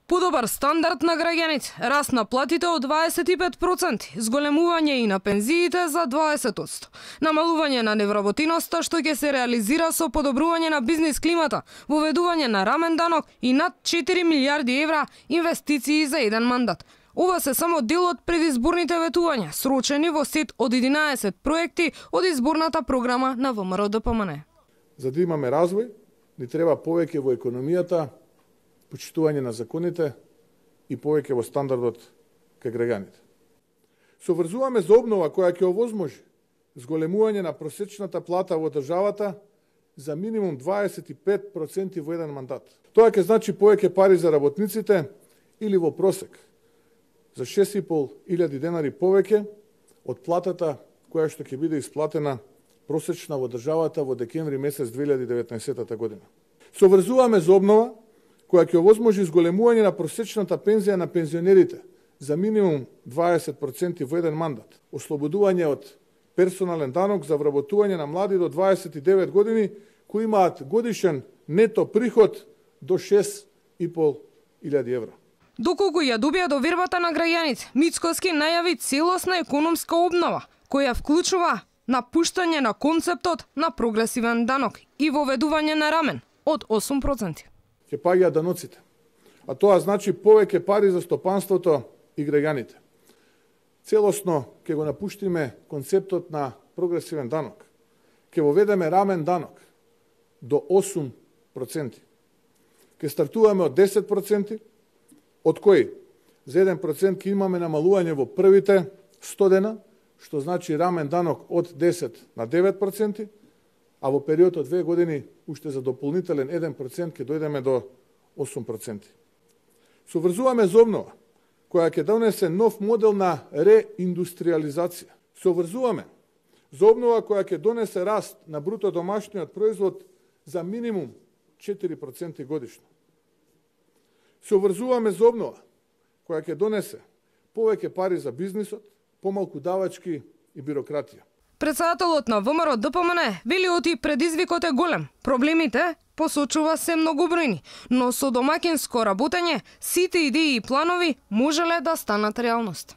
Подобар стандард на граѓаните, раст на платите од 25%, зголемување и на пензиите за 20%, намалување на невработиноста што ќе се реализира со подобрување на бизнис климата, воведување на рамен данок и над 4 милиарди евра инвестиции за еден мандат. Ова се само дел од предизборните ветувања, срочени во сет од 11 проекти од изборната програма на ВМРО-ДПМН. За да имаме развој, ни треба повеќе во економијата, почитување на законите и повеќе во стандардот кај граѓаните. Соврзуваме за обнова која ќе овозможи зголемување на просечната плата во државата за минимум 25% во еден мандат. Тоа ќе значи повеќе пари за работниците или во просек за 6.500 денари повеќе од платата која што ќе биде исплатена просечна во државата во декември месец 2019 година. Соврзуваме за обнова која ќе овозможи зголемување на просечната пензија на пензионерите за минимум 20% во еден мандат, ослободување од персонален данок за вработување на млади до 29 години кои имаат годишен нето приход до 6.500 евра. Доколку ја добија довербата на граѓаните, Мицкоски најави целосна економска обнова, која вклучува напуштање на концептот на прогресивен данок и воведување на рамен од 8%. Ќе паѓаат даноците, а тоа значи повеќе пари за стопанството и граѓаните. Целосно ќе го напуштиме концептот на прогресивен данок. Ќе воведеме рамен данок до 8%. Ќе стартуваме од 10%, од кои за 1% ќе имаме намалување во првите 100 дена, што значи рамен данок од 10 на 9%, а во период од 2 години уште за дополнителен 1% ќе дојдеме до 8%. Соврзуваме за обнова, која ќе донесе нов модел на реиндустриализација. Соврзуваме за обнова која ќе донесе раст на бруто домашниот производ за минимум 4% годишно. Соврзуваме за обнова која ќе донесе повеќе пари за бизнисот, помалку давачки и бирократија. Председателот на ВМРО-ДПМН вели оти предизвикот е голем. Проблемите, посочува, се многобројни, но со домакинско работење сите идеи и планови можеле да станат реалност.